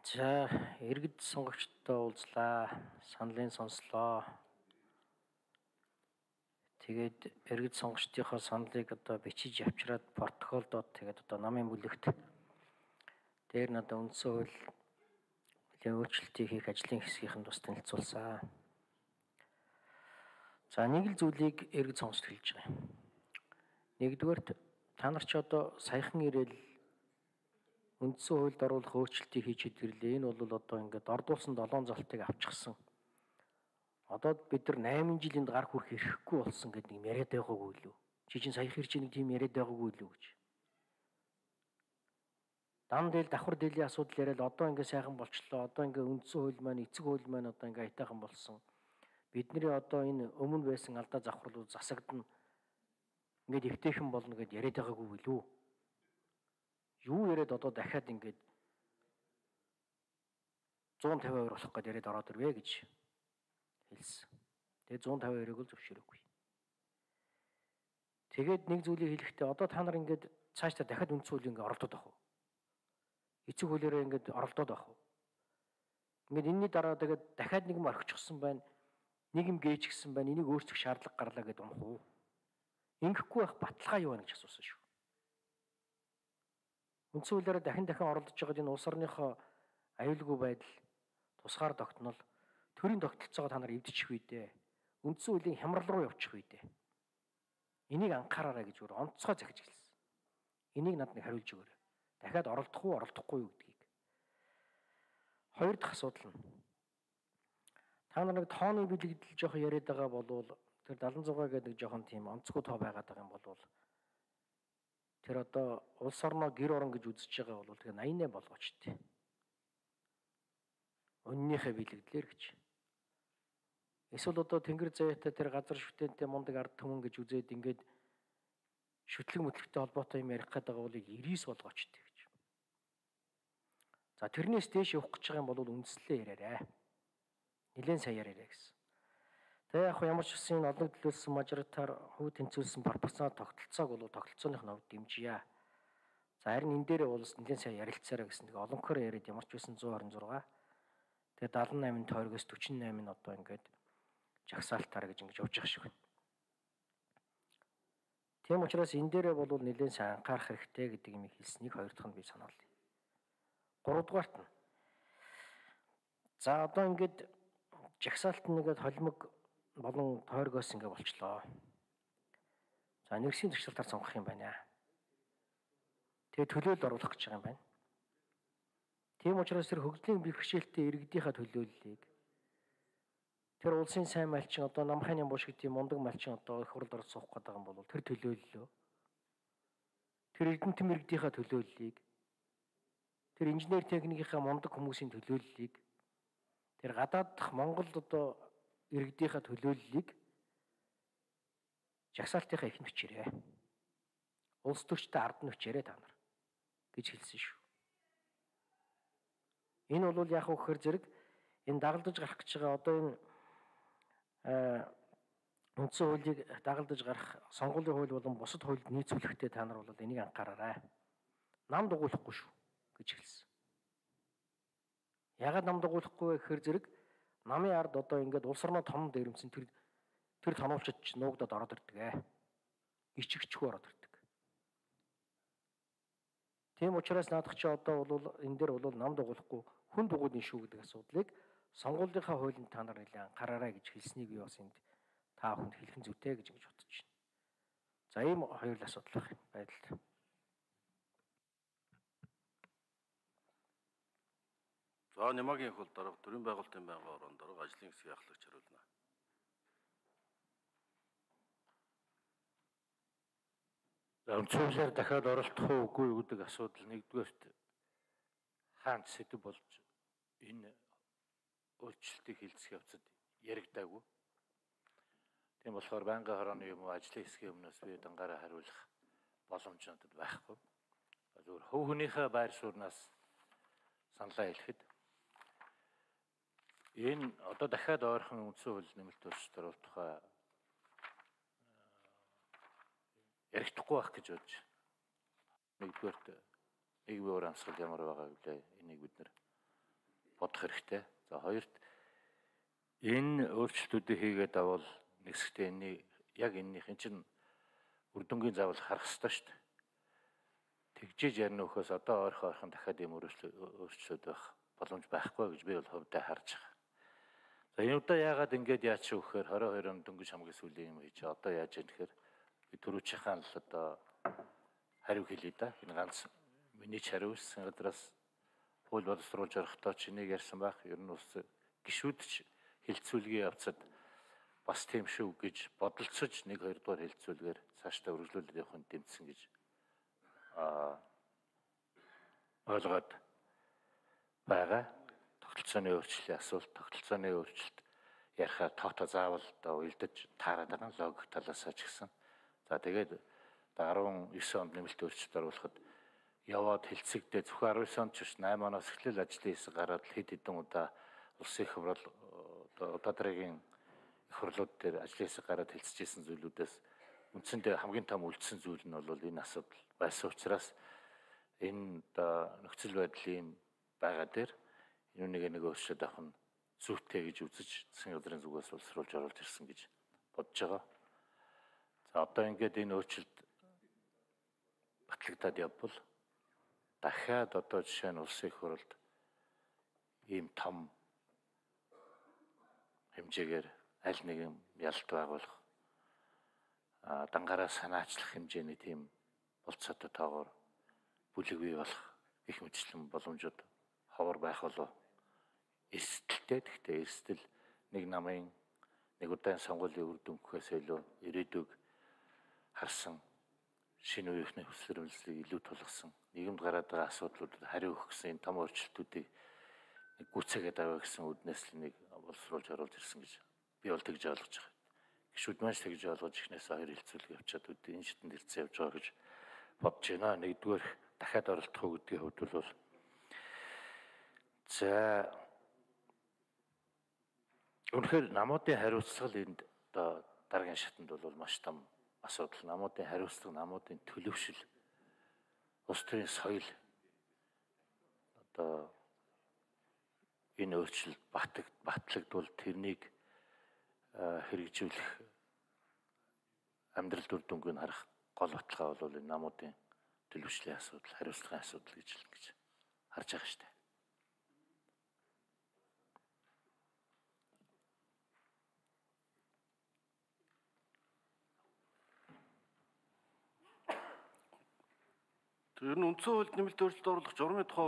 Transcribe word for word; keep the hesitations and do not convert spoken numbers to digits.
За иргэд сонгогчдод уулзлаа. Саналын сонслоо. Тэгээд иргэд сонгогчдынхоо саналыг одоо бичиж авчираад протоколдод тэгээд одоо намын бүлэгт дээр нь одоо үндсэн хууль нэлийн өөрчлөлтийг хийх ажлын хэсгийнхэнд бас танилцуулсан. За нэг л зүйлийг иргэд сонгогчд хэлж байгаа юм. Нэгдүгээрт та нар ч одоо саяхан ирээл үндсэн хуульд оруулах өөрчлөлтийг хийж хэвдэрлээ. Энэ бол одоо ингээд ордуулсан долоон залтыг авчихсан. Одоо бид нар найман жилинд гар хүрэх эрхгүй болсон гэдэг юм яриад байгаагүй юу? Чи чинь сая хэрч нэг тийм яриад байгаагүй юу гэж. Дан дээл давхар дээлийн асуудал яриад одоо ингээд сайхан болчлоо. Одоо ингээд үндсэн хууль маань, эцэг хууль маань одоо ингээд аятайхан болсон. Бидний одоо энэ өмнө байсан алдаа завхарлууд засагдана. Ингээд эвтэйхэн болно гэд яриад байгаагүй юу? Юу яриад одоо дахиад ингээд зуун тавин хоёр болох гэдээ яриад ороод ирвэ гэж хэлсэн. Тэгээ зуун тавин хоёрыг л зөвшөөрөөгүй. Тэгээд нэг зүйлийг хэлэхдээ одоо та нар ингээд цаашдаа дахиад үндсэн хуулийг ингээд оролдоод авах уу? Эцэг хуулиараа ингээд оролдоод авах уу? Ингээд энэний дараа тэгээд дахиад нэг юм орхичихсан байна. Нэг юм гээж гисэн байна. Энийг өөрчлөх шаардлага гарлаа гэдээ унах уу? Ингэхгүй байх баталгаа юу вэ гэж асуусан шүү. Үндсэн хуулиараа дахин дахин оролдож байгаа энэ улс орныхоо аюулгүй байдал, тусгаар тогтнол, төрийн тогтолцоогоо та нар эвдчих үедээ, үндсэн хуулийн хямрал руу явчих үедээ. Энийг анхаараарай гэж өөр онцгой захиж хэлсэн. Энийг надад хариулж өгөөрэй. Дахиад оролдох уу, оролдохгүй юу гэдгийг. Хоёр дахь асуудал нь. Та нар нэг тооны бэлэгдэл жоох яриад байгаа болвол тэр седан зугаа гэдэг нэг жоохон тийм онцгой тоо байгаад байгаа юм болвол тэр одоо улс орноо гэр орон гэж үзэж байгаа бол тэгээ восемь восемь болгооч тээ. Өннийхээ бэлэгдлэр гэж. Эсвэл одоо тэнгэр заяатай тэр газар шүтэнтэй мундаг ард түмэн гэж үзээд ингээд шүтлэг мэтлэгтэй холбоотой юм ярих гэдэг бол девять болгооч тээ гэж. За тэрнээс дээш явах гэж байгаа юм бол үндслээ яриарай. Нилээн сайн яриарай гэсэн. Тэгээ яг ямар ч үсэн олон төлөөлсөн мажоритар хүү тэнцвүүлсэн пропорционал тогтолцоог бол тогтолцооных нь хувьд дэмжийе. За харин энэ дээрээ бол нэлээд сайн ярилцаарай гэсэн. Тэгээ олонхоор яриад ямар ч үсэн one twenty-six. Тэгээ seventy-eight нь тойрогоос forty-eight нь одоо ингээд жагсаалтаар гэж ингэж явж байгаа шиг байна. Тийм учраас энэ дээрээ бол нэлээд сайн анхаарах хэрэгтэй гэдэг юм хэлснийг хоёр дахь нь би санаалъя. Гурав дахьт нь. За одоо ингээд жагсаалт нэгэд холимог болон тойрогоос ингэ болчлоо. За нэгсийн төвчлөлтөөр сонгох юм байна. Тэгээ төлөөлөл оруулах гэж байгаа юм байна. Тийм учраас тэр хөгжлийн бэрхшээлтэй иргэдийнхаа төлөөллийг тэр улсын сайн малчин одоо намхайн юм буш гэдэг мундаг малчин одоо их хурлд орж суух гэдэг юм бол тэр төлөөллөө тэр эрдэнэт иргэдийнхаа төлөөллийг тэр инженер техникийнхаа мундаг хүмүүсийн төлөөллийг тэр гадаад дахь Монголд одоо иргэдийнхаа төлөөллийг жагсаалтынхаа их нүчээрээ улс төрчтэй ард нүчээрээ та нар гэж хэлсэн шүү. Энэ бол яг үхээр зэрэг энэ дагалдаж гарах гэж байгаа одоо энэ үндсэн хуулийг дагалдаж гарах сонгуулийн хууль болон бусад хуульд нийцүүлэхдээ та нар бол энийг анхаараарай. Нам дугуйлахгүй шүү гэж хэлсэн. Ягаад нам дугуйлахгүй вэ гэхээр зэрэг намын ард одоо ингээд улс орноо том дээрэмсэн тэр тэр тонуулчид нуугдаад ороод ирдэг ээ. Ичгчгүй ороод ирдэг. Тийм учраас наадах чи одоо бол энэ дээр бол нам дугуулахгүй хүн дугуйны шүү гэдэг асуудлыг сонгуулийнхаа хуулинд та нар нэлээд анхаараарай гэж хэлснийг би бас энд та бүхэнд хэлэх нь зүйтэй гэж ингэж бодож байна. За ийм хоёр л асуудал байдал. За Нямагийн хөл дарга төрийн байгуулалтын байнгын орон дарга ажлын хэсгийн ахлагч хариулна. За үндсэн хуулиар дахиад оролцох уу үгүй юу гэдэг асуудал нэгдүгээрт хаанч сэдв болж энэ өөрчлөлтийг хилцэх явцад яригдаагүй. Тийм болохоор байнгын хорооны юм уу ажлын хэсгийн өмнөөс би дангаараа хариулах боломж надад байхгүй. Зөвхөн хөв хүнийхээ байр сууриас саналаа хэлэхэд энэ одоо дахиад ойрхон үндсэн хууль нэмэлт өөрчлөлт оруулах тухай ярихдаггүй байх гэж бодож. Нэгдүгээрт нэг бие урамсгал ямар байгаа вэ? Энийг бид нэр бодох хэрэгтэй. За хоёрт энэ өөрчлөлтүүдийг хийгээд авал нэгсгтээ энэ яг энэнийхэн чинь үр дүнгийн заавал харах ёстой шүү дээ. Тэгжиж ярина өхөөс одоо ойрхон ойрхон дахиад ийм өөрчлөлт байх боломж байхгүй гэж би бол хувьдаа харж байгаа. За энэ удаа яагаад ингэж яач вэ гэхээр хорин хоёр он дөнгөж хамгийн сүүлийн юм хийж одоо яаж яах гэхээр би түрүүчийн л одоо хариу хэлье да. Энэ ганц миний ч хариу гэсэн газраас хууль боловсруулж орохдоо чинийг ярьсан байх. Ер нь ус гişүүдч хилцүүлгийн явцад бас тийм шүү гэж бодолцож нэг хоёр дугаар хилцүүлгээр цаашдаа үргэлжлүүлээд явахын дэмжсэн гэж а ойлгоод байгаа. Тогтолцооны өөрчлөлийн асуулт, тогтолцооны өөрчлөлт ярихаар тоото заавал одоо уйлдаж таарад байгаа логик талаасаа ч гэсэн. За тэгээд арван девять онд нэмэлт өөрчлөлт оруулахад яваад хэлцэгдээ зөвхөн арван девять онд ч биш восемь оноос эхлээл ажлын хэсэг гараад хэд хэдэн удаа улсын их хурал одоо удаа дараагийн их хурлууд дээр ажлын хэсэг гараад хэлцэжсэн зүйлүүдээс үндсэндээ хамгийн том үлдсэн зүйл нь бол энэ асуудал байсан учраас энэ нөхцөл байдлын байгаа дээр энэ нэг нэг өөрчлөлт авах нь зүйтэй гэж үзэж засгийн газрын зүгээс боловсруулж оруулж ирсэн гэж бодож байгаа. За одоо ингээд энэ өөрчлөлт батлагдаад явбал дахиад одоо жишээ нь улсын их хурлд ийм том хэмжээгээр аль нэгэн ялалт байгуулах дангаараа санаачлах хэмжээний тийм болцоотой тоогоор бүлэг бий болох их мэтлэн боломжууд ховор байх болов эрсдэлтэй. Гэхдээ эрсдэл нэг намын нэг удаан сонгуулийн үр дүнхээс илүү ирээдүйг харсан шинэ үеийнхний хүсэл эрмэлзлийг илүү тулгасан нийгэмд гараад байгаа асуудлуудад хариу өгөх гэсэн энэ том өөрчлөлтүүдийг нэг гүцээгээд аваа гэсэн үднээс л нэг боловсруулж оруулж ирсэн гэж би бол тэгж ойлгож байгаа. Гişүүд маань тэгж ойлгож ихнээс хоёр хилцүүлэг явчаад үдээ энэ шидэнд ирсэн явж байгаа гэж бодож байна. Нэгдүгээр дахиад оролдох уу гэдгийн хувьд бол за үнэхээр намуудын хариуцлага энд одоо дараагийн шатанд бол маш том асуудал. Намуудын хариуцлага, намуудын төлөвшил, улс төрийн соёл одоо энэ өөрчлөлт батлагдвал тэрнийг хэрэгжүүлэх амьдрал дүр дүнгийг харах гол баталгаа бол энэ намуудын төлөвшлийн асуудал, хариуцлагын асуудал гэж л гэж харж байгаа шүү дээ. Тэр нь үндсэн хуульд нэмэлт өөрчлөлт оруулах журмын тухай